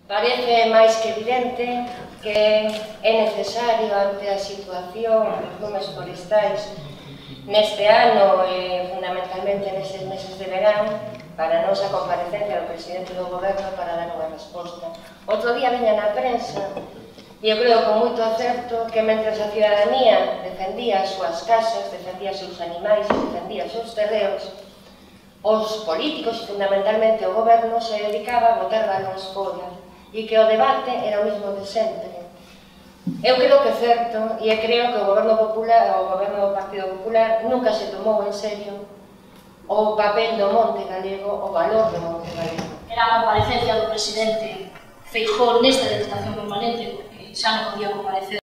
Parece máis que evidente que é necesario ante a situación dos lumes forestais neste ano e fundamentalmente nestes meses de verán para a nosa comparecencia do presidente do goberno para dar unha resposta. Outro día viña na prensa e eu creo con moito acerto que mentres a cidadanía defendía as súas casas, defendía os seus animais, defendía os seus terreos, os políticos e fundamentalmente o goberno se dedicaba a botar balóns fora e que o debate era o mesmo de sempre. Eu creo que é certo e creo que o goberno popular, o goberno do Partido Popular nunca se tomou en serio o papel do monte galego, o valor do monte galego. Era a comparecencia do presidente Feijóo nesta deputación permanente, porque xa non podía comparecer